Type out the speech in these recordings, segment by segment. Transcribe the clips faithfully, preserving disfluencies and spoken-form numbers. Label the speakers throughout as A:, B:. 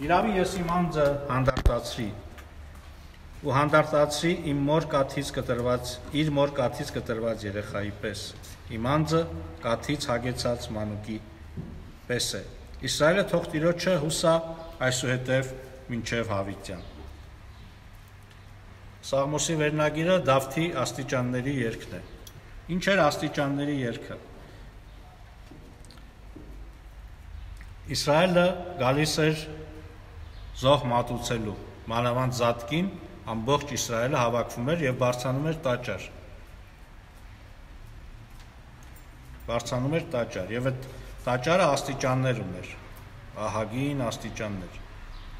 A: Իրավի ես իմ անձը հանդարտացրի ու հանդարտացրի իմ մոր կաթից կտրված, իր մոր կաթից կտրված երեխայի պես, իմ անձը կաթից հագեցած մանուկի պես է։ Իսրայելը թող Տիրոջը հուսա այսուհետև մինչև հավիտյան։ Սաղմոսի վերնագիրը Դավթի աստիճանների երգն է։ Ինչ էր աստիճանների երգը։ Իսրայելը գալիս էր զոհ մատուցելու, մանավանդ Զատկին, ամբողջ Իսրայելը հավաքվում էր եւ բարձրանում էր տաճար։ Բարձրանում էր տաճար եւ այդ տաճարը աստիճաններ ուներ, ահագին աստիճաններ։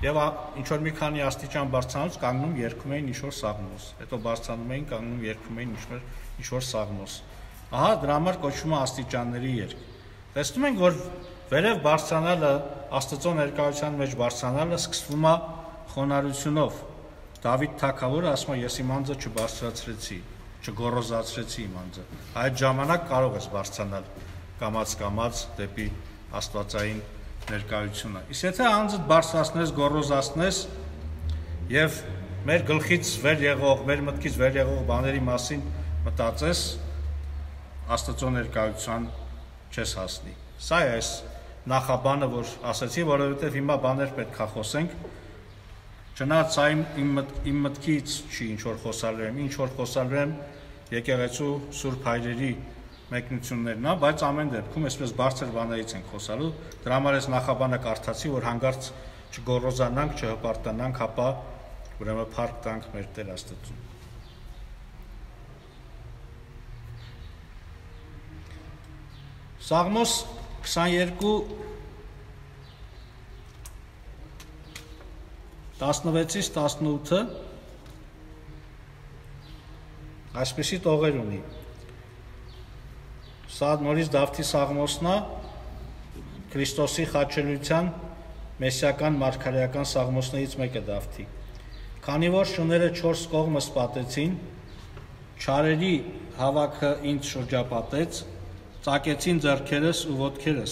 A: Եվ ինչ որ մի քանի աստիճան բարձրանալուց կանգնում երգում էին ինչ-որ սաղմոս, հետո բարձրանում էին, կանգնում երգում էին ինչ-որ ինչ-որ սաղմոս։ Ահա դրա համար կոչվում է աստիճանների երգ։ Տեսնում ենք, որ վերև բարձրանալը, Աստծո ներկայության մեջ բարձրանալը սկսվում է խոնարհությունով։ Դավիթ թագավորը ասում է, ես իմ անձը չբարձրացրեցի, չգոռոզացրեցի իմ անձը։ Այդ ժամանակ կարող ես բարձրանալ կամաց-կամաց դեպի աստվածային ներկայությունը։ Իսկ եթե անձդ բարձրացնես, գոռոզացնես եւ մեր գլխից վեր եղող, մեր մտքից վեր եղող բաների մասին մտածես, Աստծո ներկայության չես հասնի։ Սա է այս նախաբանը, որ ասացի, որովհետեւ հիմա բաներ պետք է խոսենք։ Չնայած սա իմ իմ մտքից չի ինչ որ խոսալու եմ, ինչ որ խոսալու եմ եկեղեցու Սուրբ Հայրերի մեկնություններն է, բայց ամեն դեպքում այսպես բարձր բաներից ենք խոսալու, դրա համար ես նախաբանը կարդացի, որ հանգարց չգոռոզանանք, չհպարտանանք, ապա ուրեմն փառք տանք մեր Տեր Աստծուն։ Սաղմոս քսաներկու տասնվեցից տասնութը այսպիսի տողեր ունի։ Սա նորից Դավթի սաղմոսն է, Քրիստոսի խաչելության մեսիական մարգարեական սաղմոսներից մեկը Դավթի։ Քանի որ շները չորս կողմս պատեցին, չարերի հավաքը ինձ շրջապատեց, ծակեցին ձեռքերս ու ոտքերս,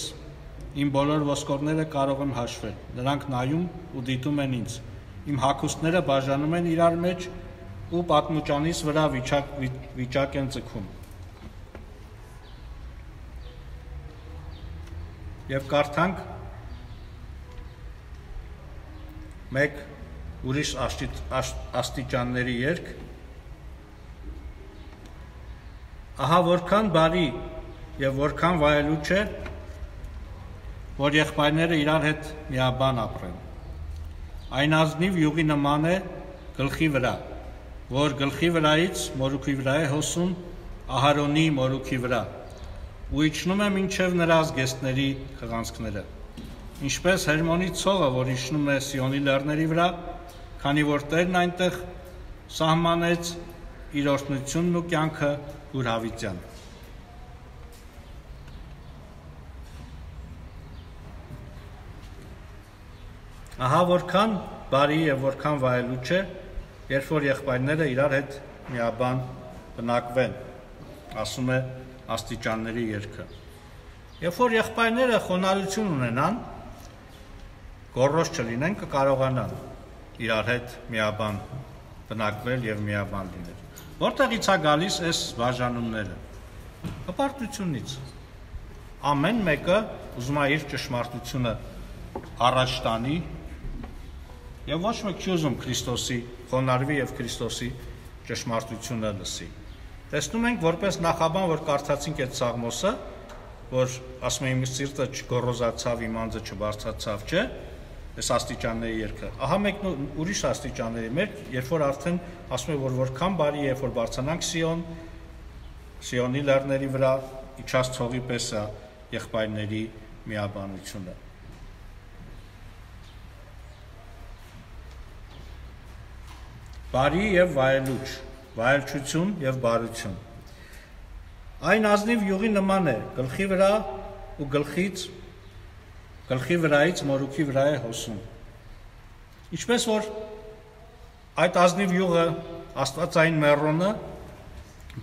A: իմ բոլոր ոսկորները կարող եմ հաշվել, նրանք նայում ու դիտում են ինձ, իմ հագուստները բաժանում են իրար մեջ ու պատմուճանից վրա վիճակ, վիճակ են ձգում։ Եվ կարդանք մեկ ուրիշ աստիճանների երգ։ Ահա որքան բարի եւ որքան վայելուչ է, որ եղբայրները իրար հետ միաբան ապրեն։ Այն ազնիվ յուղի նման է գլխի վրա, որ գլխի վրայից մորուքի վրա է հոսում Ահարոնի մորուքի վրա, ու իջնում է մինչև նրա զգեստների խղանցքները, ինչպես Հերմոնի ցողը, որ իջնում է Սիոնի լեռների վրա, քանի որ Տերն այնտեղ սահմանեց իր օրհնությունն ու կյանքը ուր հավիտյան։ Ահա որքան բարի եւ որքան վայելուչ է, երբ որ եղբայրները իրար հետ միաբան բնակվեն, ասում է աստիճանների երգը։ Երբ որ եղբայրները խոնարհություն ունենան, գոռոզ չլինեն, կկարողանան իրար հետ միաբան բնակվել եւ միաբան լինել։ Որտեղից է գալիս այս բաժանումները։ Հպարտությունից։ Ամեն մեկը ուզում է իր ճշմարտությունը առաջ տանի եւ ոչ մեկ չի ուզում Քրիստոսի խոնարհվի եւ Քրիստոսի ճշմարտությունը լսի։ Տեսնում ենք, որպես նախաբան, որ կարդացինք այդ սաղմոսը, որ ասում եմ իմ սիրտը չգոռոզացավ, իմ անձը չբարձրացավ, չէ՞, այս աստիճանների երգը։ Ահա մեկ ուրիշ աստիճանների մեջ, երբ որ արդեն ասում է, որ որքան բարի է, երբ որ բարձրանանք Սիոն, Սիոնի լեռների վրա իջած ցողի պես է եղբայրների միաբանությունը։ Բարի եւ վայելուչ, վայելչություն եւ բարություն։ Այն ազնիվ յուղի նման է, գլխի վրա ու գլխից, գլխի վրայից մորուքի վրա է հոսում։ Ինչպես որ այդ ազնիվ յուղը, աստվածային մեռոնը,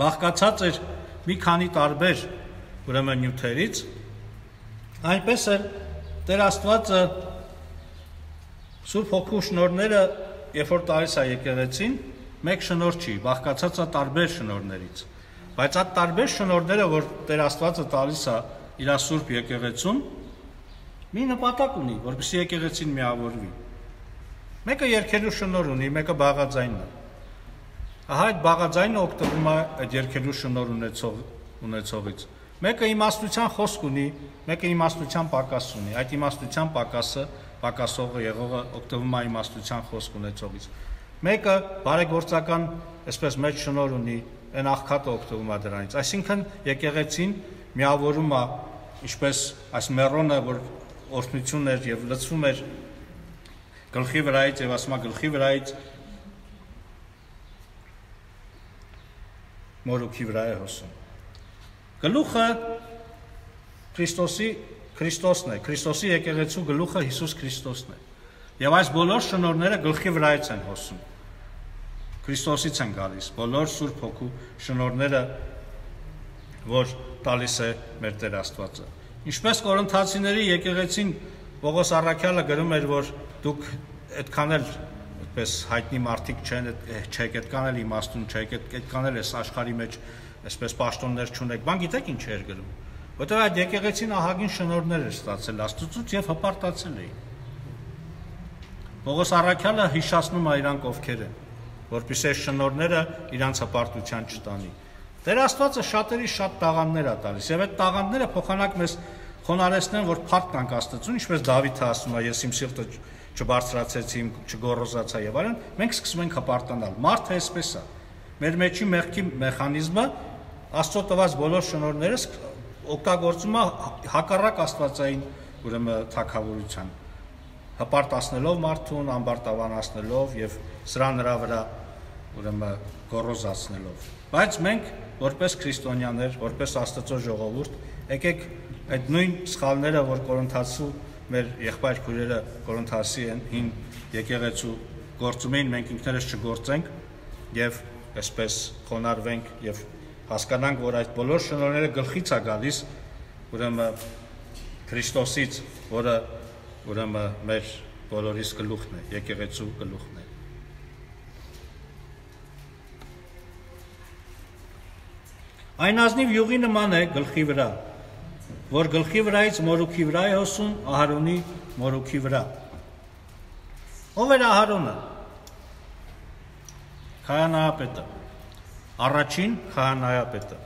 A: բաղկացած էր մի քանի տարբեր ուրեմն նյութերից, այնպես էլ Տեր Աստվածը Սուրբ Հոգու շնորհները, երբ որ տալիս է եկեղեցին, մեկ շնորհ չի, բաղկացած է տարբեր շնորհներից։ Բայց այդ տարբեր շնորհները, որ Տեր Աստվածը տալիս է իր Սուրբ եկեղեցուն, մի նպատակ ունի, որպեսզի եկեղեցին միավորվի։ Մեկը երգելու շնորհ ունի, մեկը բաղաձայնն է։ Ահա այդ բաղաձայնը օգտվում է այդ երգելու շնորհ ունեցող ունեցողից։ Մեկը իմաստության խոսք ունի, մեկը իմաստության պակաս ունի։ Այդ իմաստության պակասը, պակասողը եղողը օգտվում է իմաստության խոսք ունեցողից։ Մեկը բարեգործական, այսպես մեծ շնորհ ունի, այն աղքատը օգտվում է դրանից։ Այսինքն եկեղեցին միավորում է, ինչպես այս մեռոնը, որ օրհնություն էր եւ լցվում էր գլխի վրայից եւ ասում է գլխի վրայից մորուքի վրա է հոսում։ Գլուխը Քրիստոսի Քրիստոսն է, Քրիստոսի եկեղեցու գլուխը Հիսուս Քրիստոսն է։ Եվ այս բոլոր շնորհները գլխի վրայից են հոսում։ Քրիստոսից են գալիս բոլոր Սուրբ Հոգու շնորհները, որ տալիս է մեր Տեր Աստվածը։ Ինչպես Կորինթացիների եկեղեցին Պողոս առաքյալը գրում էր, որ դուք այդքան էլ այդպես հայտնի մարդիկ չեն, չեք այդքան էլ իմաստուն չեք, այդքան էլ էս աշխարհի մեջ այսպես պաշտոններ չունեք, բան գիտեք ինչ էր գրում, որտեղ այդ եկեղեցին ահագին շնորհներ էր ստացել Աստծուց եւ հպարտացել էին։ Պողոս առաքյալը հիշացնում է իրանք ովքեր են, որպեսզի այս շնորհները իրանց հպարտության չտանի։ Տեր Աստվածը շատերի շատ տաղանդներ է տալիս, եւ այդ տաղանդները փոխանակ մեզ խոնարհեցնեն, որ փառք տանք Աստծուն, ինչպես Դավիթը ասում է, ես իմ սիրտը չբարձրացեցի, չգոռոզացա եւ այլն, մենք սկսում ենք հպարտանալ։ Մարդը այսպես է։ Մեր մեջի մեղքի մեխանիզմը Աստծո տված բոլոր շնորհները օգտագործում է հակառակ աստվածային ուրեմն թագավորության, հպարտացնելով մարդուն, ամբարտավանացնելով եւ սրա նրա վրա ուրեմն գոռոզացնելով։ Բայց մենք որպես քրիստոնյաներ, որպես Աստծո ժողովուրդ, եկեք այդ նույն սխալները, որ Կորինթացու մեր եղբայր քույրերը Կորինթասի են հին եկեղեցու գործում էին, մենք ինքներս չգործենք եւ այսպես խոնարհվենք եւ հասկանանք, որ այդ բոլոր շնորհները գլխից է գալիս, ուրեմն Քրիստոսից, որը ուրեմն մեր բոլորիս գլուխն է, եկեղեցու գլուխն է։ Այն ազնիվ յուղի նման է գլխի վրա, որ գլխի վրայից մորուքի վրա է հոսում, Ահարոնի մորուքի վրա։ Ով էր Ահարոնը։ Քահանայապետը, առաջին քահանայապետը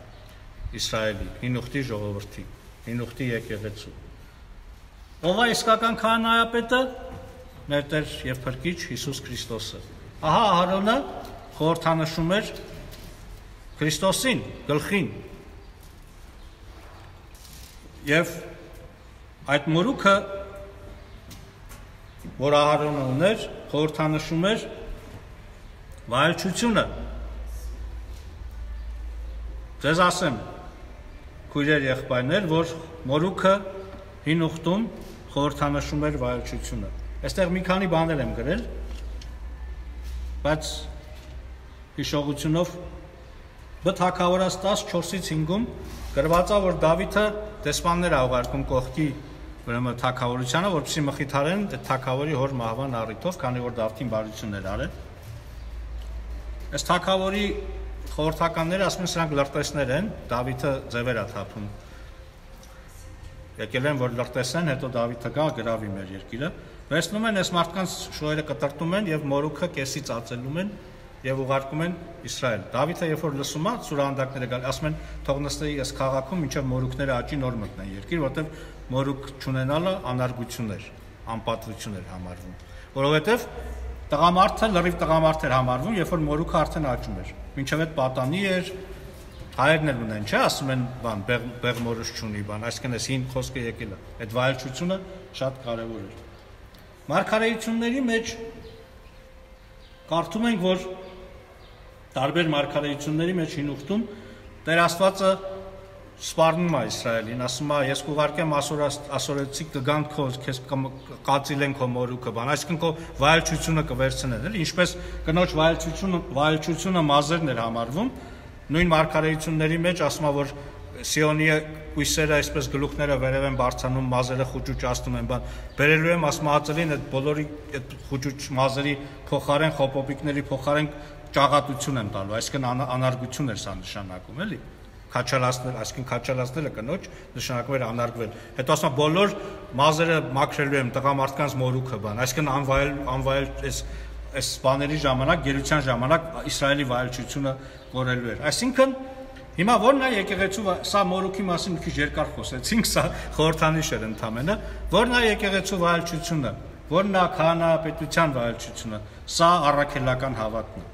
A: Իսրայելի, հին ուխտի ժողովրդի, հին ուխտի եկեղեցու։ Ով է իսկական քահանայապետը։ Մեր Տեր եւ Փրկիչ Հիսուս Քրիստոսը։ Ահա Ահարոնը խորհրդանշում էր Քրիստոսին, գլխին։ Եվ այդ մորուքը, որ Ահարոնը ուներ, խորհրդանշում էր վայելչությունը։ Ձեզ ասեմ, քույրեր եղբայրներ, որ մորուքը հին ուխտում խորհրդանշում էր վայելչությունը։ Այստեղ մի քանի բաներ եմ գրել, բայց հիշողությունով Բ Թագավորաց տասնչորսից հինգում գրված է, որ Դավիթը դեսպաններ ա ուղարկում կողքի ուրեմն թագավորությանը, որպեսզի մխիթարեն այդ թագավորի հոր մահվան առիթով, քանի որ Դավթին բարություններ արել։ Այս թագավորի խորհրդականները ասում են, սրանք լրտեսներ են, Դավիթը ձևեր է թափում։ Եկել են, որ լրտեսեն, հետո Դավիթը գա գրավի մեր երկիրը։ Վերցնում են այս մարդկանց շոյերը կտրտում են եւ մորուքը կեսից ածելում են եւ ուղարկում են Իսրայել։ Դավիթը երբ որ լսում է, սուրանդակները գալ, ասում են, թող նստեի այս քաղաքում, մինչեւ մորուքները աճի նոր մտնեն երկիր, որտեւ մորուք չունենալը անարգություն էր, անպատվություն էր համարվում։ Որովհետեւ տղամարդը լրիվ տղամարդ էր համարվում, երբ որ մորուքը արդեն աճում էր։ Մինչեւ այդ պատանի էր, հայերն էլ ունեն, չէ, ասում են, բան, բեղմորուս չունի, բան, այսինքն այս հին խոսքը եկել է։ Այդ վայելչությունը շատ կարեւոր էր։ Մարգարեությունների մեջ կարդում ենք, որ տարբեր մարգարեությունների մեջ հին ուխտում Տեր Աստվածը սպառնում է Իսրայելին, ասում է, ես կուղարկեմ ասորեցիք կգան քո, քեզ կածիլեն քո մորուքը, բան, այսինքն քո վայելչությունը կվերցնեն, էլի, ինչպես կնոջ վայելչությունը, վայելչությունը մազերն էր համարվում, նույն մարգարեությունների մեջ ասում է, որ Սիոնի կույսերը այսպես գլուխները վերև են բարձանում, մազերը խուճուճացնում են, բան բերելու եմ ասմածելին այդ բոլորի այդ խուճուճ մազերի փոխարեն խոպոպիկների փոխարեն ճաղատություն եմ տալու, այսինքն անարգություն էր սա նշանակում, էլի։ Քաչալացնել, այսինքն քաչալացնելը կնոջ նշանակում էր անարգվել։ Հետո ասում բոլոր մազերը մաքրելու եմ տղամարդկանց մորուքը, բան, այսինքն անվայել անվայել այս այս բաների ժամանակ, գերության ժամանակ Իսրայելի վայելչությունը կորելու էր։ Այսինքն հիմա ո՞րն է եկեղեցու, սա մորուքի մասին մի քիչ երկար խոսեցինք, սա խորհրդանիշ էր ընդամենը, ո՞րն է եկեղեցու վայելչությունը, ո՞րն է քահանայապետության վայելչությունը, սա առաքելական հավատն է։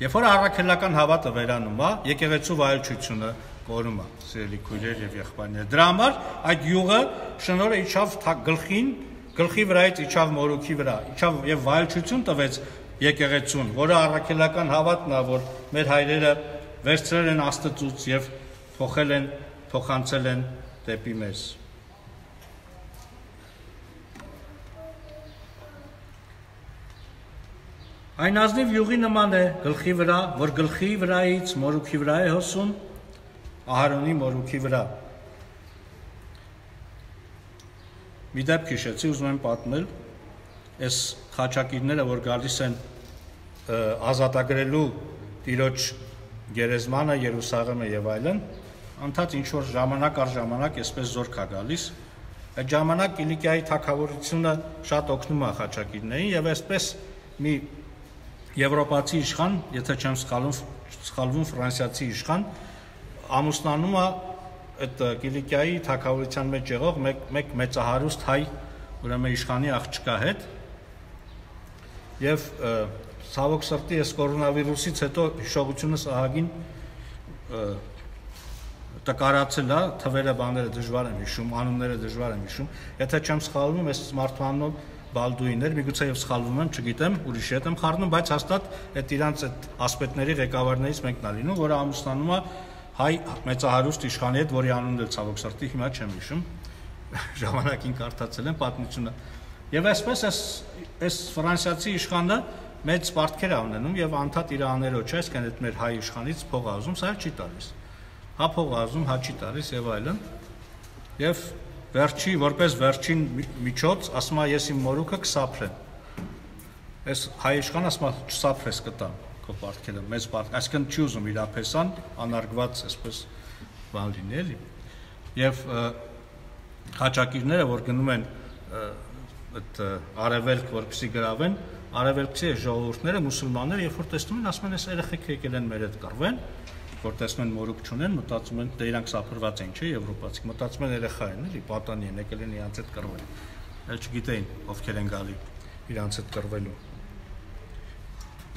A: Երբ որ առաքելական հավատը վերանում է, եկեղեցու վայելչությունը կորում է, սիրելի քույրեր եւ եղբայրներ։ Դրա համար այդ յուղը շնորհը իջավ գլխին, գլխի վրայից իջավ մորուքի վրա, իջավ եւ վայելչություն տվեց եկեղեցուն, որը առաքելական հավատն է, որ մեր հայրերը վերցրել են Աստծուց եւ փոխել են, փոխանցել են դեպի մեզ։ Այն ազնիվ յուղի նման է գլխի վրա, որ գլխի վրայից մորուքի վրա է հոսում, Ահարոնի մորուքի վրա։ Մի դեպք հիշեցի, ուզում եմ պատմել, այս խաչակիրները, որ գալիս են ազատագրելու Տիրոջ գերեզմանը, Երուսաղեմը եւ այլն, անդադ ինչ որ ժամանակ առ ժամանակ այսպես զորք է գալիս։ Այդ ժամանակ Կիլիկիայի թագավորությունը շատ օգնում է խաչակիրներին եւ այսպես մի եվրոպացի իշխան, եթե չեմ սխալվում, սխալվում ֆրանսիացի իշխան, ամուսնանում է այդ Կիլիկիայի թագավորության մեջ եղող մեկ մեկ մեծահարուստ հայ, ուրեմն իշխանի աղջկա հետ, եւ ցավոք սրտի այս կորոնավիրուսից հետո հիշողությունս ահագին տկարացել է, թվերը բաները դժվար եմ հիշում, անունները դժվար եմ հիշում, եթե չեմ սխալվում, այս մարդու անունով Բալդուին էր, միգուցե եւ սխալվում եմ, չգիտեմ, ուրիշ հետ եմ խառնում, բայց հաստատ այդ իրանց այդ ասպետների ղեկավարներից մեկն է լինում, որը ամուսնանում է հայ մեծահարուստ իշխանի հետ, որի անունն էլ ցավոք սրտի հիմա չեմ հիշում, ժամանակին կարդացել եմ պատմությունը։ Եվ այսպես այս այս ֆրանսիացի իշխանը մեծ պարտքեր է ունենում եւ անդադ իր աներոջ, այսինքն այդ մեր հայ իշխանից փող ազում, սա չի տալիս։ Հա փող ազում, հա չի տալիս եւ այլն։ Եվ վերջի, որպես վերջին միջոց, ասում է ես իմ մորուքը կսափրեմ։ Այս հայ իշխանը ասում է չսափրես կտամ քո պարտքերը, մեծ պարտք, այսինքն չի ուզում իր ափեսան անարգված այսպես բան լինի, էլի։ Եվ խաչակիրները, որ գնում են այդ արևելք, որպեսզի գրավեն, արևելքցի ժողովուրդները, մուսուլմանները, երբ որ տեսնում են, ասում են, այս երեխեքը եկել են մեր հետ կռվեն, որ տեսնում են մորուք չունեն, մտածում են, դե իրանք սափրված են, չէ, եվրոպացիք, մտածում են երեխա են, էլի, պատանի են, եկել են իրանց հետ կռվել։ Էլ չգիտեին ովքեր են գալի իրանց հետ կռվելու։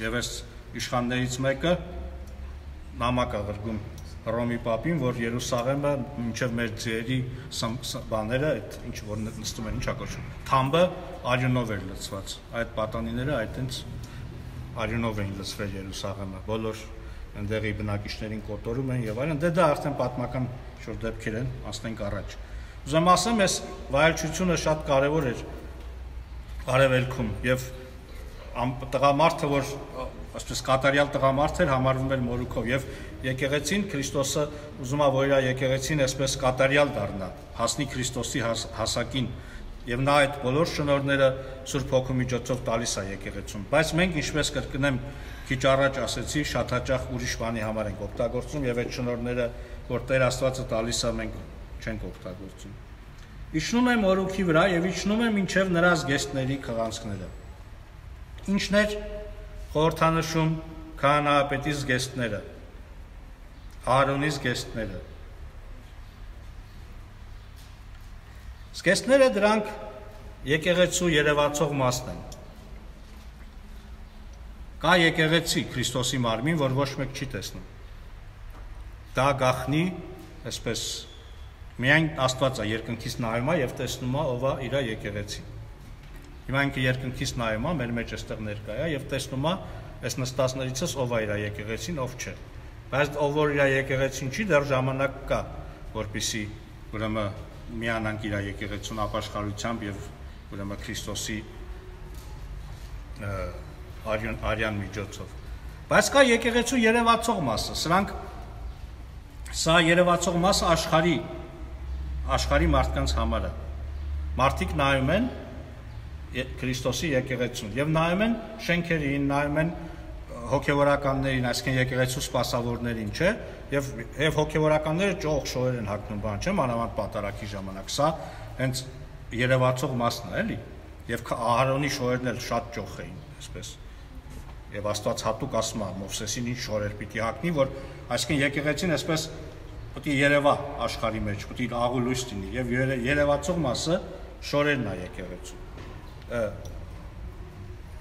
A: Եվ այս իշխաններից մեկը նամակ ա գրում Հռոմի պապին, որ Երուսաղեմը մինչև մեր ձերի բաները, այդ ինչ որ նստում են, ինչա կոչվում, թամբը արյունով էր լցված։ Այդ պատանիները այդտենց արյունով էին լցվել Երուսաղեմը, բոլոր ընդեղի բնակիչներին կոտորում են եւ այլն, դե դա արդեն պատմական շուտ դեպքեր են, ասենք առաջ։ Ուզում ասեմ, այս վայելչությունը շատ կարեւոր էր արևելքում եւ տղամարդը, որ այսպես կատարյալ տղամարդ էր, համարվում էր մորուքով եւ եկեղեցին Քրիստոսը ուզում է, որ իր եկեղեցին այսպես կատարյալ դառնա, հասնի Քրիստոսի հասակին եւ նա այդ բոլոր շնորհները Սուրբ Հոգու միջոցով տալիս է եկեղեցուն։ Բայց մենք ինչպես կրկնեմ քիչ առաջ ասեցի, շատ հաճախ ուրիշ բանի համար ենք օգտագործում եւ այդ շնորհները, որ Տեր Աստվածը տալիս է, մենք չենք օգտագործում։ Իջնում է մորուքի վրա եւ իջնում է մինչեւ նրա զգեստների քղանցքները։ Ինչն էր խորհրդանշում քահանայապետի զգեստները, Ահարոնի զգեստները։ Զգեստները դրանք եկեղեցու երևացող մասն են։ Կա եկեղեցի Քրիստոսի մարմին, որ ոչ մեկ չի տեսնում։ Դա գախնի, այսպես միայն Աստված է երկնքից նայում է եւ տեսնում է ով է իր եկեղեցին։ Հիմա ինքը երկնքից նայում է, մեր մեջ այստեղ ներկա է եւ տեսնում է այս նստածներիցս ով է իր եկեղեցին, ով չէ։ Բայց ով որ իր եկեղեցին չի, դեռ ժամանակ կա, որպեսզի ուրեմն միանանք իր եկեղեցուն ապաշխարությամբ եւ ուրեմն Քրիստոսի արյան արյան միջոցով։ Բայց կա եկեղեցու երևացող մասը, սրանք Սա երևացող մասը աշխարհի աշխարհի մարդկանց համար է։ Մարդիկ նայում են Քրիստոսի եկեղեցուն եւ նայում են շենքերին, նայում են հոգեվորականներին, այսինքն եկեղեցու սպասավորներին, չէ՞, եւ եւ հոգեվորականները ճոխ շոյեր են հագնում, բան չէ՞, մանավանդ պատարակի ժամանակ։ Սա հենց երևացող մասն է, էլի։ Եվ Ահարոնի շոյերն էլ շատ ճոխ էին, այսպես։ Եվ Աստված հատուկ ասում է Մովսեսին ինչ շորեր պիտի հագնի, որ այսինքն եկեղեցին այսպես պիտի երևա աշխարհի մեջ, պիտի աղու լույս լինի եւ երևացող մասը շորերն է եկեղեցու։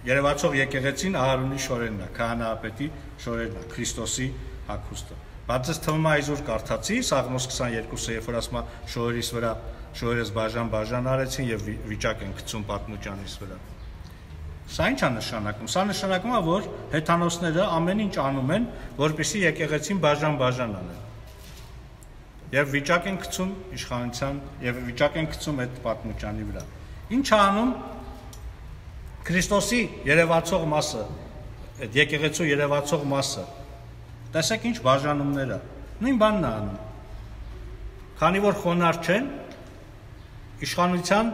A: Երևացող եկեղեցին Ահարոնի շորերն է, քահանայապետի շորերն է, Քրիստոսի հագուստը։ Բայց ես թվում է այսօր կարդացի Սաղմոս քսաներկուսը, երբ որ ասում է շորերիս վրա շորերս բաժան-բաժան արեցին եւ վիճակ են գցում պատմուճանից վրա։ Սա ի՞նչ է նշանակում։ Սա նշանակում է, որ հեթանոսները ամեն ինչ անում են, որպեսզի եկեղեցին բաժան-բաժան անեն։ Եվ վիճակ են գցում իշխանության եւ վիճակ են գցում այդ պատմուճանի վրա։ Ինչ է անում Քրիստոսի երևացող մասը, այդ եկեղեցու երևացող մասը։ Տեսեք ինչ բաժանումներ է։ Նույն բանն է անում։ Քանի որ խոնարհ չեն, իշխանության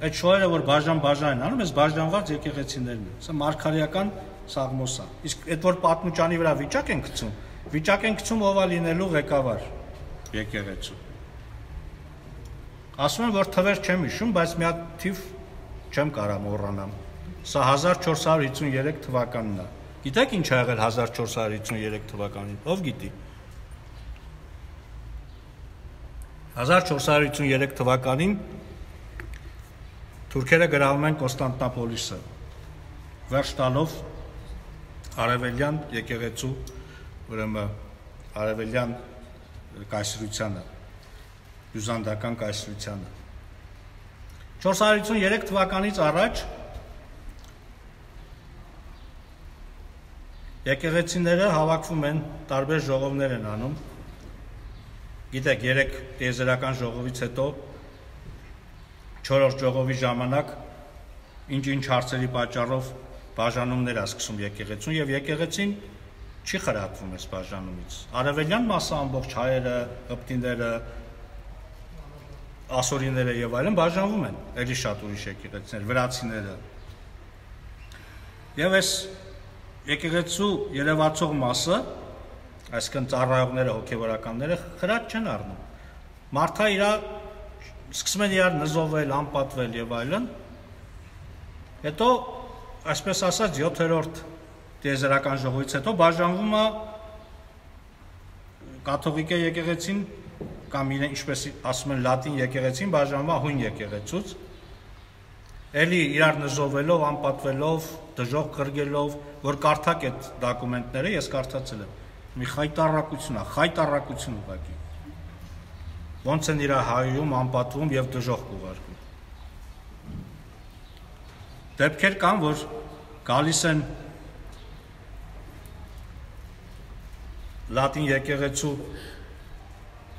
A: այդ շոյերը, որ բաժան-բաժան են անում, այս բաժանված եկեղեցիներն են։ Սա մարգարեական Սաղմոս է։ Իսկ այդ որ պատմուճանի վրա վիճակ են գցում, վիճակ են գցում ով է լինելու ղեկավար եկեղեցու։ Ասում են, որ թվեր չեմ հիշում, բայց մի հատ թիվ չեմ կարող մոռանամ։ Սա հազար չորս հարյուր հիսունյերեք թվականն է։ Գիտեք ինչ ա եղել հազար չորս հարյուր հիսունյերեք թվականին։ Ով գիտի։ հազար չորս հարյուր հիսունյերեք թվականին թուրքերը գրավում են Կոստանդնապոլիսը, վերջ տալով արևելյան եկեղեցու, ուրեմն արևելյան կայսրությանը, բյուզանդական կայսրությանը։ չորս հարյուր հիսունյերեք թվականից առաջ եկեղեցիները հավաքվում են, տարբեր ժողովներ են անում։ Գիտեք, երեք տիեզերական ժողովից հետո չորրորդ ժողովի ժամանակ ինչ-ինչ հարցերի պատճառով բաժանումներ է սկսում եկեղեցուն եւ եկեղեցին չի խրատվում այս բաժանումից։ Արևելյան մասը ամբողջ հայերը, հպտիները, ասորիները եւ այլն բաժանվում են, ելի շատ ուրիշ եկեղեցիներ, վրացիները։ Եվ այս եկեղեցու երևացող մասը, այսինքն ծառայողները, հոգեվորականները խրատ չեն առնում։ Մարդը իր սկսում են իրար նզովել, անպատվել եւ այլն։ Հետո, այսպես ասած, յոթերորդ տիեզերական ժողովից հետո բաժանվում է կաթողիկե եկեղեցին կամ իրեն ինչպես ասում են լատին եկեղեցին բաժանվում է հույն եկեղեցուց։ Էլի իրար նզովելով, անպատվելով, դժոխք կրգելով, որ կարդակ այդ դոկումենտները, ես կարդացել եմ։ Մի խայտառակություն է, խայտառակություն ուղղակի։ Ոնց են իրա հայում, անպատվում եւ դժոխք ուղարկում։ Դեպքեր կան, որ գալիս են լատին եկեղեցու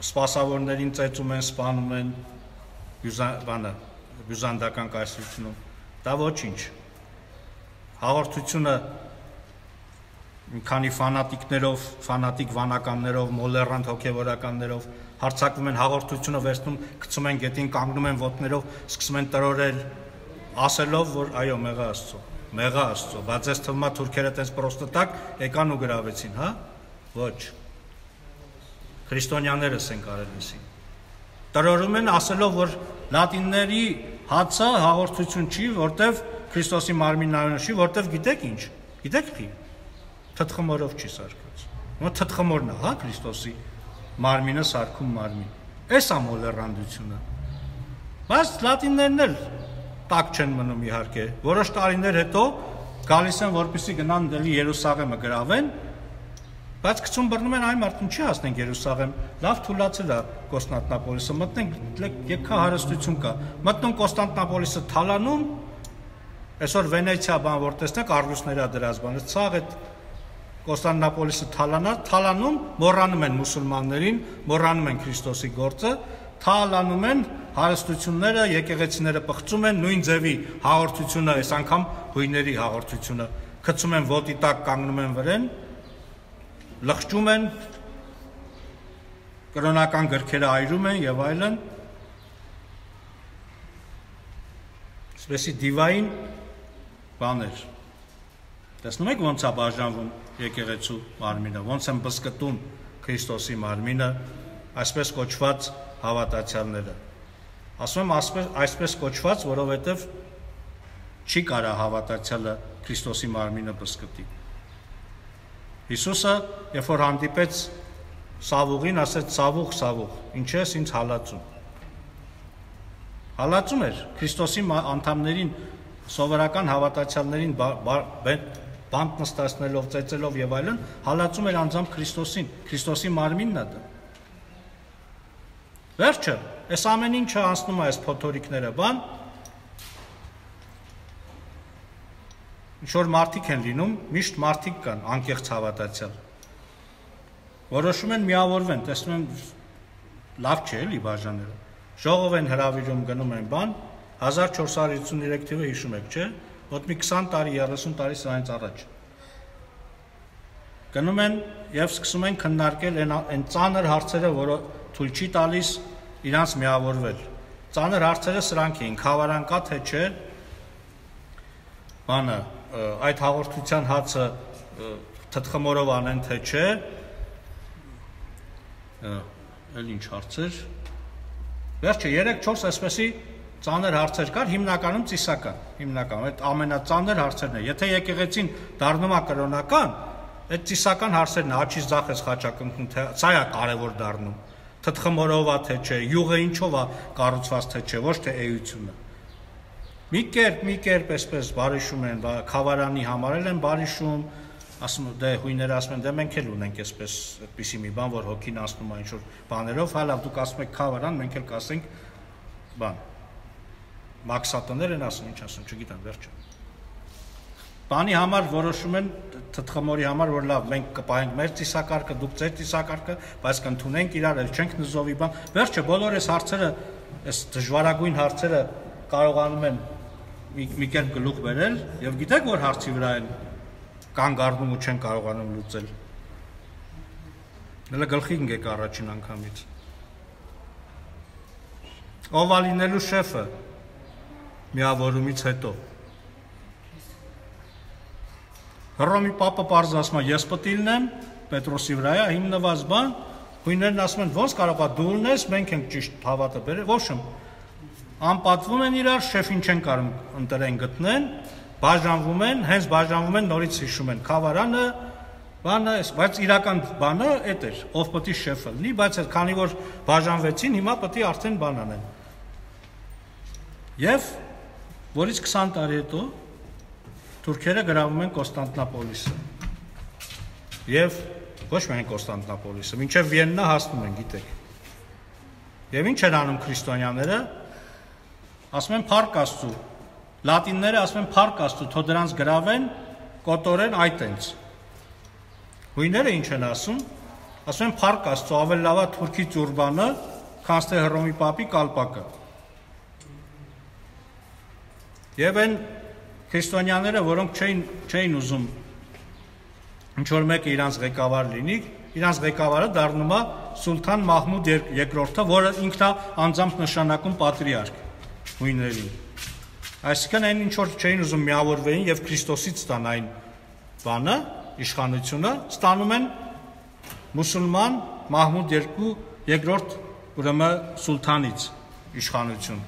A: սպասավորներին ծեծում են, սպանում են, բանը բյուզանդական կայսրությունում, դա ոչինչ։ Հաղորդությունը մի քանի ֆանատիկներով, ֆանատիկ վանականներով, մոլեռանդ հոգևորականներով հարձակվում են, հաղորդությունը վերցնում, գցում են գետին, կանգնում են ոտներով, սկսում են տրորել, ասելով, որ այո, մեղա Աստծո, մեղա Աստծո, բայց այս թվում է թուրքերը տենց պրոստատակ եկան ու գրավեցին, հա? Ոչ։ Քրիստոնյաներս են կարել էսին։ Տրորում են ասելով, որ լատինների հացը հաղորդություն չի, որտեվ Քրիստոսի մարմինն այո չի, որտեվ գիտեք ինչ։ Գիտեք խի։ Թթխմորով չի սարքած։ Ո՞ր թթխմորն է, հա, Քրիստոսի մարմինը սարքում մարմին։ Էս է մոլեռանդությունը։ Բայց լատիններն էլ տակ չեն մնում իհարկե։ Որոշ տարիներ հետո գալիս են, որպեսզի գնան դելի Երուսաղեմը գրավեն, բայց գցում բռնում են այ մարդուն չի հասնենք Երուսաղեմ, լավ թուլացել է Կոստանդնապոլիսը, մտնենք եկա հարստություն կա, մտնում Կոստանդնապոլիսը թալանում, այսօր Վենեցիա բան որ տեսնեք առյուծների դրած բանը, ցաղ այդ Կոստանդնապոլիսը թալանա, թալանում, մոռանում են մուսուլմաններին, մոռանում են Քրիստոսի գործը, թալանում են հարստությունները, եկեղեցիները պղծում են, նույն ձևի հաղորդությունը, այս անգամ հույների հաղորդությունը, գցում են ոտի տակ, կանգնում են վրեն, լղջում են, կրոնական գրքերը այրում են եւ այլն, այսպեսի դիվային բաներ։ Տեսնում եք ոնց է բաժանվում եկեղեցու մարմինը, ոնց են բզկտում Քրիստոսի մարմինը, այսպես կոչված հավատացյալները։ Ասում եմ այսպես, այսպես կոչված, որովհետև չի կարա հավատացյալը Քրիստոսի մարմինը բզկտի։ Հիսուսը, երբ որ հանդիպեց Սավուղին, ասեց Սավուղ, Սավուղ, ինչ ես ինձ հալածում։ Հալածում էր Քրիստոսի անդամներին, սովորական հավատացյալներին բանտ նստացնելով, ծեծելով եւ այլն, հալածում էր անձամբ Քրիստոսին, Քրիստոսի մարմինն է դա։ Վերջը, այս ամեն ինչը անցնում է այս փոթորիկները, բան, ինչ որ մարդիկ են լինում, միշտ մարդիկ կան, անկեղծ հավատացյալ։ Որոշում են միավորվեն, տեսնում են լավ չէ, էլի բաժաները։ Ժողով են հրավիրում, գնում են բան, հազար չորս հարյուր հիսուններեք թիվը հիշում եք, չէ՞, ոտ մի քսան տարի, երեսուն տարի սրանից առաջ։ Գնում են եւ սկսում են քննարկել այն ծանր հարցերը, որը թույլ չի տալիս իրանց միավորվել։ Ծանր հարցերը սրանք էին, խավարան կա թե չէ, բանը, այդ հաղորդության հացը թթխմորով անեն թե չէ, էլ ինչ հարցեր, վերջը երեք չորս այսպեսի ծանր հարցեր կար, հիմնականում ծիսական, հիմնականում, այդ ամենածանր հարցերն է, եթե եկեղեցին դառնում է կրոնական, այդ ծիսական հարցերն է, աչից ձախ ես խաչակնքում, թե սա է կարևոր դառնում, թթխմորով է թե չէ, յուղը ինչով է կառուցված թե չէ, ոչ թե էությունը։ Մի կերպ, մի կերպ այսպես բարիշում են, խավարանի համարել են բարիշում, ասում դե հույները ասում են, դե մենք էլ ունենք այսպես այդպիսի մի բան, որ հոգին անցնում է ինչ-որ բաներով, հալավ դուք ասում եք խավարան, մենք էլ կասենք բան։ Մաքսատներ են ասում, ինչ ասում, չգիտեմ, վերջը։ Բանի համար որոշում են թթխմորի համար, որ լավ, մենք կպահենք մեր ծիսակարգը, դուք ձեր ծիսակարգը, բայց կընդունենք իրար, էլ չենք նզովի բան։ Վերջը բոլոր այս հարցերը, այս դժվարագույն հարցերը կարողանում են մի կերպ գլուխ բերել եւ գիտեք որ հարցի վրա են կանգ առնում ու չեն կարողանում լուծել։ Դե գլխի ընկեք առաջին անգամից։ Ով ալինելու շեֆը միավորումից հետո։ Հռոմի պապը պարզ ասում է, ես պետք է լինեմ Պետրոսի վրա է հիմնված բան, հույներն ասում են, ոնց կարող է դու ունես, մենք ենք ճիշտ հավատը բերել, ոչ եմ։ Անպատվում են իրար, շեֆին չեն կարող ընտրեն գտնեն, բաժանվում են, հենց բաժանվում են, նորից հիշում են խավարանը, բանը, բայց իրական բանը էդ էր, ով պետք է շեֆը լինի, բայց քանի որ բաժանվեցին, հիմա պետք է արդեն բան անեն։ Եվ որից քսան տարի հետո թուրքերը գրավում են Կոստանդնապոլիսը։ Եվ ոչ միայն Կոստանդնապոլիսը, մինչև Վիեննա հասնում են, գիտեք։ Եվ ինչ են անում քրիստոնյաները, ասում են փառք Աստծու, լատինները ասում են փառք Աստծու, թող դրանց գրավեն, կոտորեն այտենց։ Հույները ինչ են ասում, ասում են փառք Աստծու, ավելի լավ է թուրքի ծուրբանը, քան թե Հռոմի պապի կալպակը։ Եվ այն քրիստոնյաները, որոնք չէին չէին ուզում ինչ որ մեկը իրանց ղեկավար լինի, իրանց ղեկավարը դառնում է Սուլթան Մահմուդ երկրորդը, որը ինքն է անձամբ նշանակում պատրիարք հույներին։ Այսինքն այն ինչ որ չէին ուզում միավորվեին եւ Քրիստոսից ստան այն բանը, իշխանությունը, ստանում են մուսուլման Մահմուդ երկրորդ ուրեմն սուլթանից իշխանություն։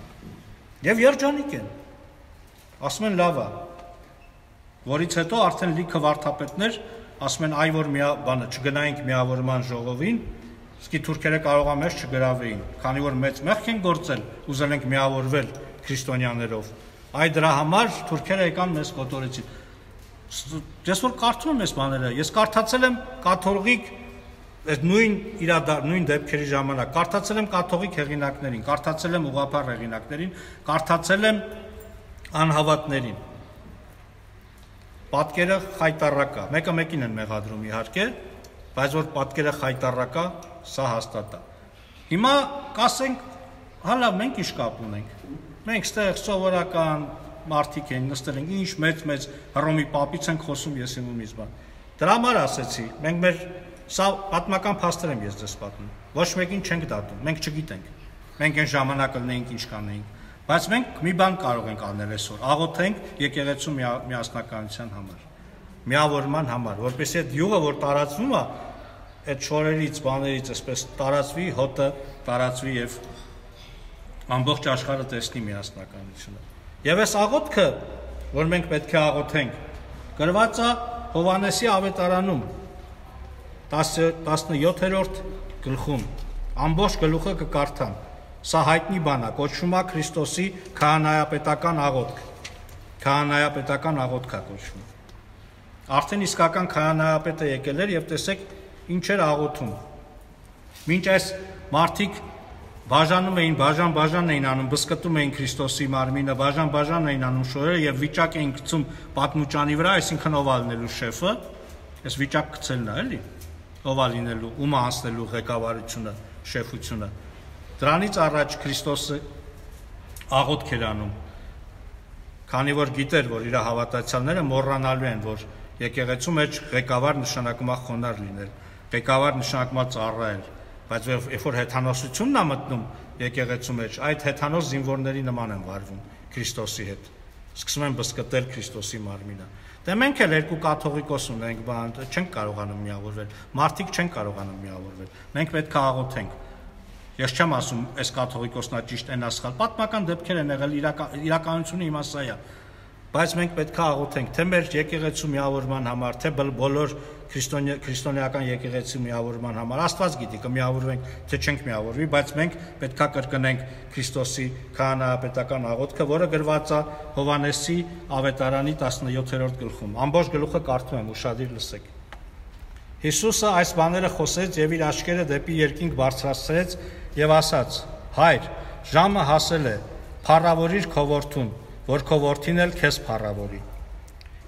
A: Եվ երջանիկ են։ Ասում են լավ է, որից հետո արդեն լիքը վարդապետներ ասում են այ որ մի բանը չգնայինք միավորման ժողովին, իսկ թուրքերը կարող է մեզ չգրավեին, քանի որ մեծ մեղք են գործել, ուզել ենք միավորվել քրիստոնյաներով։ Այ դրա համար թուրքերը եկան մեզ կոտորեցին։ Ես որ կարդում եմ այս բաները, ես կարդացել եմ կաթողիկ այդ նույն իրադարձ նույն դեպքերի ժամանակ, կարդացել եմ կաթողիկ հեղինակներին, կարդացել եմ ուղղափառ հեղինակներին, կարդացել եմ անհավատներին։ Պատկերը խայտառակ է, մեկը մեկին են մեղադրում իհարկե, բայց որ պատկերը խայտառակ է, սա հաստատ է։ Հիմա կասենք, հալա մենք ինչ կապ ունենք։ Մենք ստեղ սովորական մարդիկ են նստել ենք, ինչ մեծ-մեծ Հռոմի պապից ենք խոսում ես իմումից բան։ Դրա համար ասեցի, մենք մեր Սա պատմական փաստեր եմ ես ձեզ պատմում։ Ոչ մեկին չենք դատում, մենք չգիտենք։ Մենք այն ժամանակ լինեինք, ինչ կանեինք, բայց մենք մի բան կարող ենք անել այսօր, աղոթենք եկեղեցու միասնականության համար, միավորման համար, որպեսզի այդ յուղը, որ տարածվում է, այդ շորերից, բաներից այսպես տարածվի, հոտը տարածվի եւ ամբողջ աշխարհը տեսնի միասնականությունը։ Եվ այս աղոթքը, որ մենք պետք է աղոթենք, գրված է Հովհաննեսի ավետարանում տասնյոթերորդ գլխում, ամբողջ գլուխը կկարդամ, սա հայտնի բան է, կոչվում է Քրիստոսի քահանայապետական աղոթք, քահանայապետական աղոթք է կոչվում։ Արդեն իսկական քահանայապետը եկել էր եւ տեսեք ինչ էր աղոթում։ Մինչ այս մարդիկ բաժանում էին, բաժան-բաժան էին անում, բսկտում էին Քրիստոսի մարմինը, բաժան-բաժան էին անում շորերը եւ վիճակ էին գցում պատմուճանի վրա, այսինքն ով ալնելու շեֆը, այս վիճակ գցելն է, էլի, ով ալինելու, ում անցնելու ղեկավարությունը, շեֆությունը։ Դրանից առաջ Քրիստոսը աղոթք էր անում, քանի որ գիտեր, որ իր հավատացյալները մոռանալու են, որ եկեղեցու մեջ ղեկավար նշանակում է խոնարհ լինել, ղեկավար նշանակում է ծառայել, բայց երբ որ հեթանոսությունն է մտնում եկեղեցու մեջ, այդ հեթանոս զինվորների նման են վարվում Քրիստոսի հետ, սկսում են բսկտել Քրիստոսի մարմինը։ Դե մենք էլ երկու կաթողիկոս ունենք, բան, չենք կարողանում միավորվել, մարդիկ չեն կարողանում միավորվել, մենք պետք է աղոթենք։ Ես չեմ ասում, այս կաթողիկոսն է ճիշտ, այն ասխալ, պատմական դեպքեր են եղել, իրականությունը հիմա սա է, բայց մենք պետք է աղոթենք, թե մեր եկեղեցու միավորման համար, թե բոլոր քրիստոնեական եկեղեցու միավորման համար, Աստված գիտի, կմիավորվենք, թե չենք միավորվի, բայց մենք պետք է կրկնենք Քրիստոսի քահանայապետական աղոթքը, որը գրված է Հովհաննեսի ավետարանի տասնյոթերորդ գլխում։ Ամբողջ գլուխը կարդում եմ, ուշադիր լսեք։ Հիսուսը այս բաները խոսեց եւ իր աչքերը դեպի երկինք բարձրացրեց եւ ասաց. Հայր, ժամը հասել է, փառավորիր քո որդուն, որ քո որդին էլ քեզ փառավորի։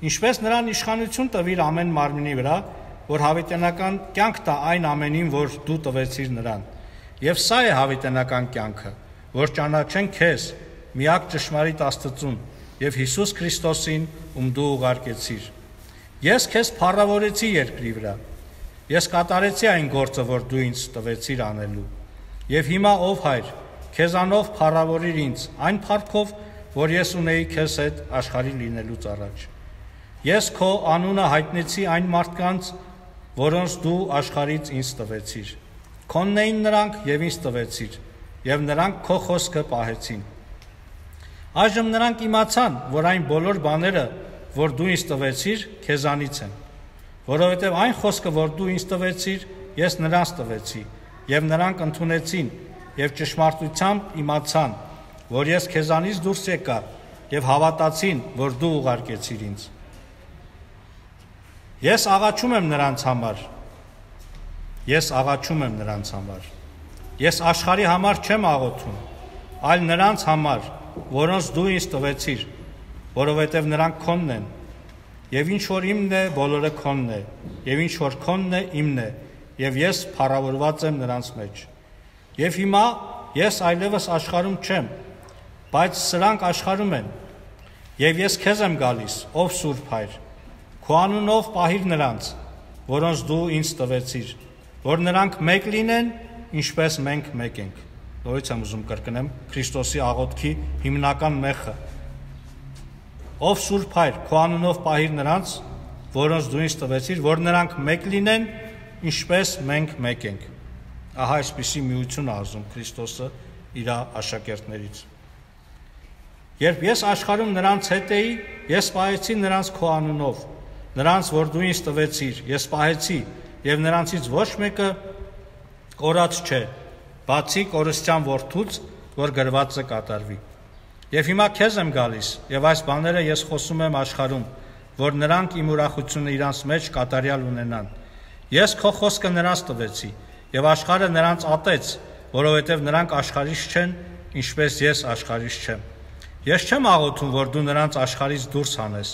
A: Ինչպես նրան իշխանություն տվիր ամեն մարմնի վրա, որ հավիտենական կյանք տա այն ամենին, որ դու տվեցիր նրան։ Եվ սա է հավիտենական կյանքը, որ ճանաչեն քեզ, միակ ճշմարիտ Աստծուն, եւ Հիսուս Քրիստոսին, ում դու ուղարկեցիր։ Ես քեզ փառավորեցի երկրի վրա։ Ես կատարեցի այն գործը, որ դու ինձ տվեցիր անելու։ Եվ հիմա ով Հայր, քեզանով փառավորիր ինձ, այն փառքով, որ ես ունեի քեզ հետ աշխարհի լինելուց առաջ։ Ես քո անունը հայտնեցի այն մարդկանց, որոնց դու աշխարհից ինձ տվեցիր։ Քոնն էին նրանք եւ ինձ տվեցիր, եւ նրանք քո խոսքը պահեցին։ Այժմ նրանք իմացան, որ այն բոլոր բաները, որ դու ինձ տվեցիր, քեզանից են, որովհետև այն խոսքը, որ դու ինձ տվեցիր, ես նրանց տվեցի, եւ նրանք ընդունեցին եւ ճշմարտությամբ իմացան, որ ես քեզանից դուրս եկա եւ հավատացին, որ դու ուղարկեցիր ինձ։ Ես աղաչում եմ նրանց համար։ Ես աղաչում եմ նրանց համար։ Ես աշխարհի համար չեմ աղոթում, այլ նրանց համար, որոնց դու ինձ տվեցիր, որովհետև նրանք քոնն են, եւ ինչ որ իմն է, բոլորը քոնն է, եւ ինչ որ քոնն է, իմն է, եւ ես փառավորված եմ նրանց մեջ։ Եվ հիմա ես այլևս աշխարհում չեմ, բայց սրանք աշխարհում են, եւ ես քեզ եմ գալիս, ով Սուրբ Հայր, քո անունով պահիր նրանց, որոնց դու ինձ տվեցիր, որ նրանք մեկ լինեն, ինչպես մենք մեկ ենք։ Նորից եմ ուզում կրկնեմ Քրիստոսի աղոթքի հիմնական մեխը։ Ով Սուրբ Հայր, քո անունով պահիր նրանց, որոնց դու ինձ տվեցիր, որ նրանք մեկ լինեն, ինչպես մենք մեկ ենք։ Ահա այսպիսի միություն է ասում Քրիստոսը իր աշակերտներից։ Երբ ես աշխարհում նրանց հետ էի, ես պահեցի նրանց քո անունով, նրանց, որ դու ինձ տվեցիր, ես պահեցի, եւ նրանցից ոչ մեկը կորած չէ, բացի կորստյան որդուց, որ գրվածը կատարվի։ Եվ հիմա քեզ եմ գալիս, եւ այս բաները ես խոսում եմ աշխարհում, որ նրանք իմ ուրախությունը իրանց մեջ կատարյալ ունենան։ Ես քո խոսքը նրանց տվեցի, եւ աշխարհը նրանց ատեց, որովհետեւ նրանք աշխարհից չեն, ինչպես ես աշխարհից չեմ։ Ես չեմ աղոթում, որ դու նրանց աշխարհից դուրս հանես,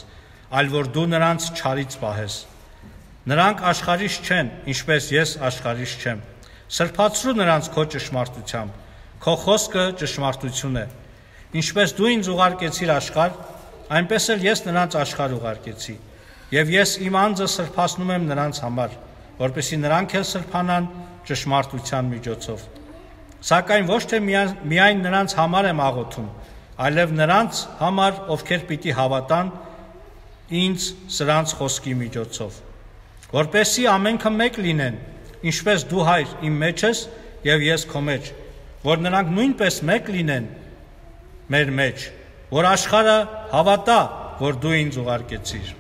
A: այլ որ դու նրանց չարից պահես։ Նրանք աշխարհից չեն, ինչպես ես աշխարհից չեմ։ Սրբացրու նրանց քո ճշմարտությամբ, քո խոսքը ճշմարտություն է։ Ինչպես դու ինձ ուղարկեցիր աշխարհ, այնպես էլ ես նրանց աշխարհ ուղարկեցի, եւ ես իմ անձը սրբացնում եմ նրանց համար, որպեսզի նրանք էլ սրբանան ճշմարտության միջոցով։ Սակայն ոչ թե միայն նրանց համար եմ աղոթում, այլև նրանց համար, ովքեր պիտի հավատան ինձ սրանց խոսքի միջոցով, որպեսզի ամենքը մեկ լինեն, ինչպես դու Հայր իմ մեջ ես եւ ես քո մեջ, որ նրանք նույնպես մեկ լինեն մեր մեջ, որ աշխարհը հավատա, որ դու ինձ ուղարկեցիր։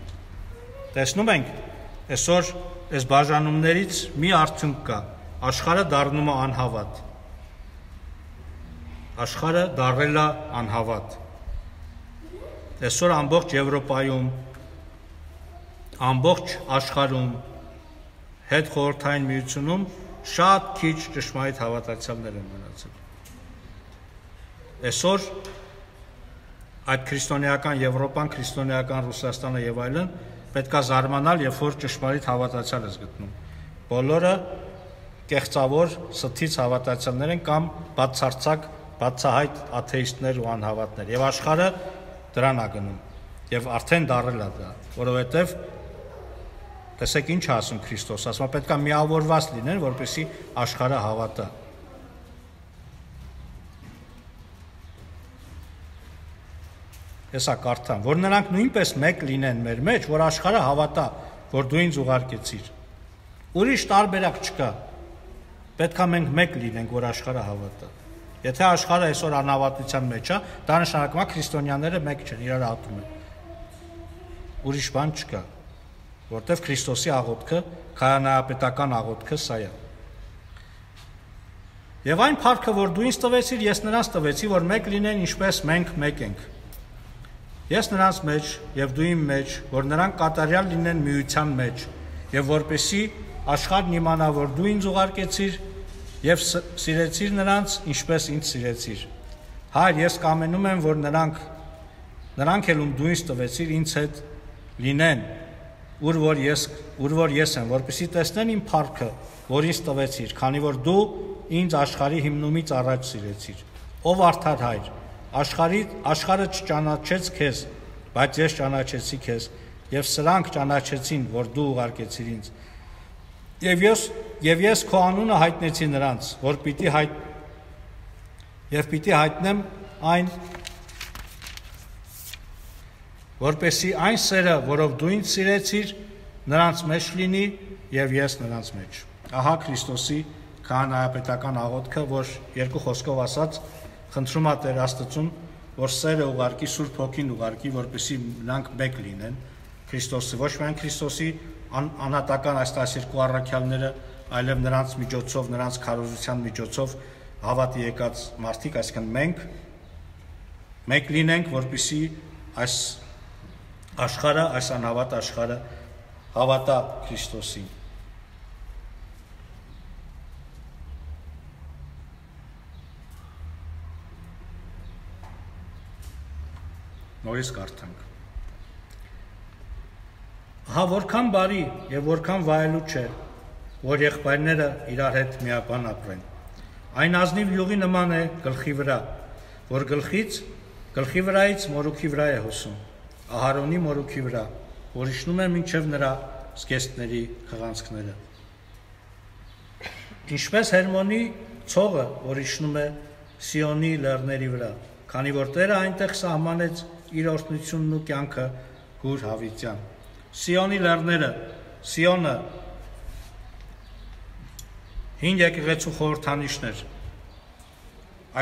A: Տեսնում ենք, այսօր այս բաժանումներից մի արդյունք կա, աշխարհը դառնում է անհավատ։ Աշխարհը դառել է անհավատ։ Այսօր ամբողջ Եվրոպայում, ամբողջ աշխարհում, հետ խորհրդային միությունում շատ քիչ ճշմարիտ հավատացյալներ են մնացել։ Այսօր այդ քրիստոնեական Եվրոպան, քրիստոնեական Ռուսաստանը եւ այլն պետք է զարմանալ, երբ որ ճշմարիտ հավատացյալ ես գտնում։ Բոլորը կեղծավոր, սթից հավատացյալներ են կամ բացարձակ, բացահայտ աթեիստներ ու անհավատներ։ Եվ աշխարհը դրան է գնում։ Եվ արդեն դառել է դա, որովհետեւ տեսեք ինչ ասում Քրիստոս, ասում է պետք է միավորված լինեն, որպեսզի աշխարհը հավատա։ Հեսա կարդամ, որ նրանք նույնպես մեկ լինեն մեր մեջ, որ աշխարհը հավատա, որ դու ինձ ուղարկեցիր։ Ուրիշ տարբերակ չկա։ Պետք է մենք մեկ լինենք, որ աշխարհը հավատա։ Եթե աշխարհը այսօր անհավատության մեջ է, դա նշանակում է քրիստոնյաները մեկ չեն, իրար ատում են։ Ուրիշ բան չկա, որտեվ Քրիստոսի աղոթքը, քահանայապետական աղոթքը սա է։ Եվ այն փառքը, որ դու ինձ տվեցիր, ես նրանց տվեցի, որ մեկ լինեն, ինչպես մենք մեկ ենք։ Ես նրանց մեջ եւ դու իմ մեջ, որ նրանք կատարյալ լինեն միության մեջ, եւ որպեսի աշխարհն իմանա, որ դու ինձ ուղարկեցիր եւ սիրեցիր նրանց, ինչպես ինձ սիրեցիր։ Հայր, ես կամենում եմ, որ նրանք նրանք էլ ում դու ինձ տվեցիր, ինձ հետ լինեն, ուր որ ես ուր որ ես եմ, որպեսի տեսնեն իմ փառքը, որ ինձ տվեցիր, քանի որ դու ինձ աշխարհի հիմնումից առաջ սիրեցիր։ Ով արդար Հայր, Աշխարհի աշխարհը չճանաչեց քեզ, բայց ես ճանաչեցի քեզ, եւ սրանք ճանաչեցին, որ դու ուղարկեցիր ինձ։ Եվ ես եւ ես քո անունը հայտնեցի նրանց, որ պիտի հայտ եւ պիտի հայտնեմ այն, որպեսի այն սերը, որով դու ինձ սիրեցիր, նրանց մեջ լինի եւ ես նրանց մեջ։ Ահա Քրիստոսի քահանայապետական աղոթքը, որ երկու խոսքով ասած խնդրում է Տեր Աստծուն, որ սերը ուղարկի, Սուրբ Հոգին ուղարկի, որպեսզի նրանք մեկ լինեն Քրիստոսի, ոչ միայն Քրիստոսի անհատական այս տասներկու առաքյալները, այլև նրանց միջոցով, նրանց քարոզության միջոցով հավատի եկած մարդիկ, այսինքն մենք մեկ լինենք, որպեսզի այս աշխարհը, այս անհավատ աշխարհը հավատա Քրիստոսին։ Նորից կարդանք։ Հա որքան բարի եւ որքան վայելու չէ, որ եղբայրները իրար հետ միաբան ապրեն։ Այն ազնիվ յուղի նման է գլխի վրա, որ գլխից գլխի վրայից մորուքի վրա է հոսում, Ահարոնի մորուքի վրա, որ իջնում է մինչև նրա զգեստների խղանցքները։ Ինչպես Հերմոնի ցողը, որ իջնում է Սիոնի լեռների վրա, քանի որ Տերը այնտեղ սահմանեց իր օրհնությունն ու կյանքը հուր հավիտյան։ Սիոնի լեռները, Սիոնը հին եկեղեցու խորհրդանիշներ։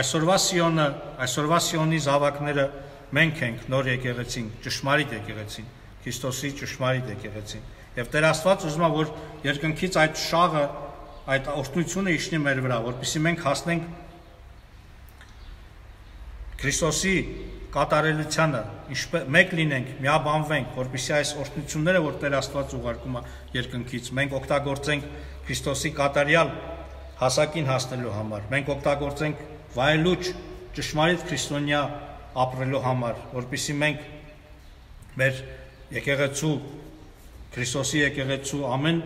A: Այսօրվա Սիոնը, այսօրվա Սիոնի զավակները մենք ենք, նոր եկեղեցին, ճշմարիտ եկեղեցին, Քրիստոսի ճշմարիտ եկեղեցին։ Եվ Տեր Աստված ուզում է, որ երկնքից այդ շաղը, այդ օրհնությունը իջնի մեր վրա, որպեսզի մենք հասնենք Քրիստոսի կատարելությանը, ինչպես մեկ լինենք, միաբանվենք, որպեսզի այս օրհնությունները, որ Տեր Աստված ուղարկում է երկնքից, մենք օգտագործենք Քրիստոսի կատարյալ հասակին հասնելու համար, մենք օգտագործենք վայելուչ ճշմարիտ քրիստոնյա ապրելու համար, որպեսզի մենք մեր եկեղեցու, Քրիստոսի եկեղեցու ամեն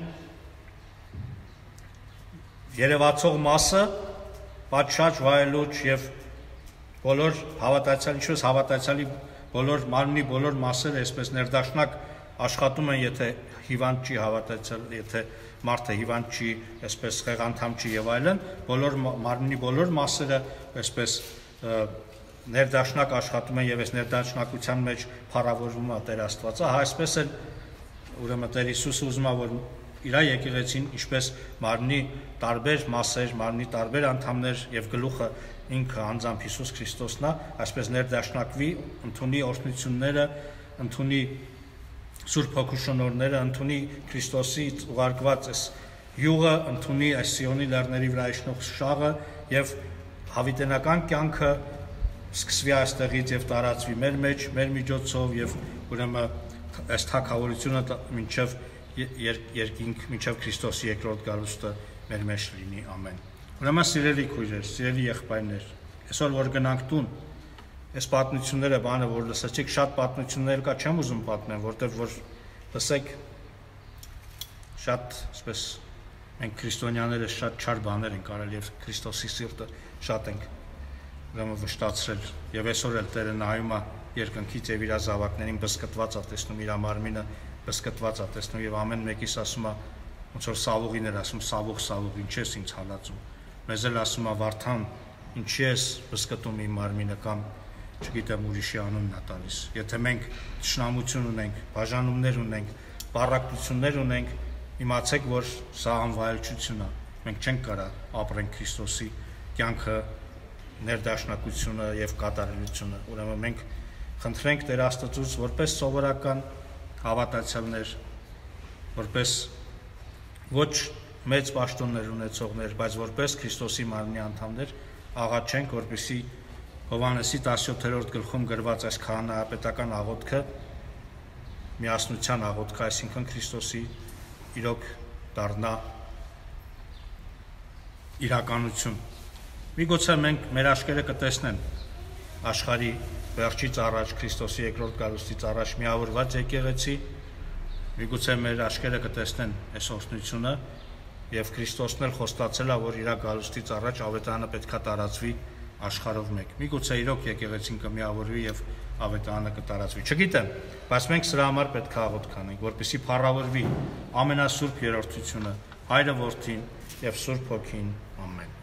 A: երևացող մասը պատշաճ, վայելուչ եւ բոլոր հավատացյալ, ինչպես հավատացյալի բոլոր մարմնի բոլոր մասերը այսպես ներդաշնակ աշխատում են, եթե հիվանդ չի հավատացել, եթե մարդը հիվանդ չի, այսպես խեղանդամ չի եւ այլն, բոլոր մարմնի բոլոր մասերը այսպես ներդաշնակ աշխատում են եւ այս ներդաշնակության մեջ փառավորվում է Տեր Աստվածը, հա այսպես էլ ուրեմն Տեր Հիսուսը ուզում է, որ իր եկեղեցին ինչպես մարմնի տարբեր մասեր, մարմնի տարբեր անդամներ եւ գլուխը ինքը անձամբ Հիսուս Քրիստոսն է, այսպես ներդաշնակվի, ընդունի օրհնությունները, ընդունի Սուրբ Հոգու շնորհները, ընդունի Քրիստոսից ուղարկված այս յուղը, ընդունի այս Սիոնի լեռների վրա իշխող շաղը եւ հավիտենական կյանքը սկսվի այստեղից եւ տարածվի մեր մեջ, մեր միջոցով եւ ուրեմն այս թագավորությունը մինչեւ երկինք, մինչեւ Քրիստոսի երկրորդ գալուստը մեր մեջ լինի, ամեն։ Ուրեմն սիրելի քույրեր, սիրելի եղբայրներ, այսօր որ գնանք տուն, այս պատմությունները բանը որ լսեցիք, շատ պատմություններ կա, չեմ ուզում պատմեմ, որտեղ որ լսեք շատ, այսպես մենք քրիստոնյաները շատ չար բաներ ենք արել եւ Քրիստոսի սիրտը շատ ենք ուրեմն վշտացրել եւ այսօր էլ Տերը նայում է երկնքից եւ իր զավակներին բսկտված է տեսնում, իր մարմինը բսկտված է տեսնում եւ ամեն մեկիս ասում է ոնց որ Սավուղին էր ասում, Սավուղ, Սավուղ, ինչ ես ինձ հալածում։ Մեզ էլ ասում է Վարդան, ինչի ես բսկտում իմ մարմինը կամ չգիտեմ ուրիշի անունն է տալիս։ Եթե մենք ճշնամություն ունենք, բաժանումներ ունենք, բառակտություններ ունենք, իմացեք, որ սա անվայելչություն է։ Մենք չենք կարա ապրենք Քրիստոսի կյանքը, ներդաշնակությունը եւ կատարելությունը։ Ուրեմն մենք խնդրենք Տեր Աստծուց որպես սովորական հավատացյալներ, որպես ոչ մեծ պաշտոններ ունեցողներ, բայց որպես Քրիստոսի մարմնի անդամներ աղաչենք, որպեսզի Հովհաննեսի տասնյոթերորդ գլխում գրված այս քահանայապետական աղոթքը միասնության աղոթքը, այսինքն Քրիստոսի իրոք դառնա իրականություն։ Միգուցե մենք մեր աշկերը կտեսնեն աշխարհի վերջից առաջ Քրիստոսի երկրորդ գալուստից առաջ միավորված եկեղեցի, միգուցե մեր աշկերը կտեսնեն այս օրհնությունը եւ Քրիստոսն էլ խոստացել է, որ իր գալուստից առաջ ավետարանը պետքա տարածվի աշխարհով մեկ։ Միգուցե իրոք եկեղեցին կմիավորվի եւ ավետարանը կտարածվի։ Չգիտեմ, բայց մենք սրա համար պետք է աղոթք անենք, որպեսզի փառավորվի ամենասուրբ երրորդությունը, Հայրը, Որդին եւ Սուրբ Հոգին։ Ամեն։